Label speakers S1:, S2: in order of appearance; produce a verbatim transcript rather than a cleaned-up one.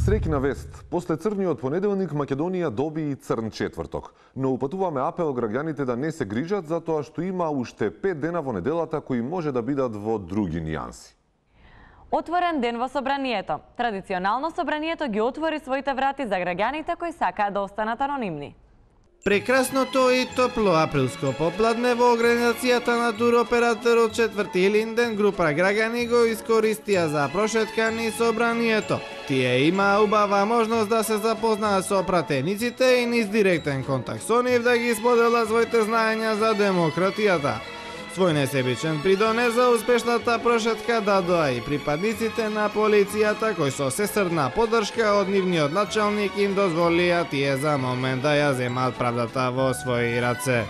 S1: Среќна вест. После црниот понеделник Македонија доби и црн четврток. Но упатуваме апел граѓаните да не се грижат затоа што има уште пет дена во неделата кои може да бидат во други нијанси.
S2: Отворен ден во собранието. Традиционално собранието ги отвори своите врати за граѓаните кои сакаат да останат анонимни.
S3: Прекрасното и топло априлско попладне во организацијата на туроператорот четврти Илинден група граѓани го искористија за прошетка низ собранието. Тие имаа убава можност да се запознаат со пратениците и низ директен контакт со нив да ги споделат своите знаења за демократијата. Свој несебичен придонес за успешната прошетка дадоа и припадниците на полицијата кои со сестрна поддршка од нивниот началник им дозволија тие за момент да ја земат правдата во своји раце.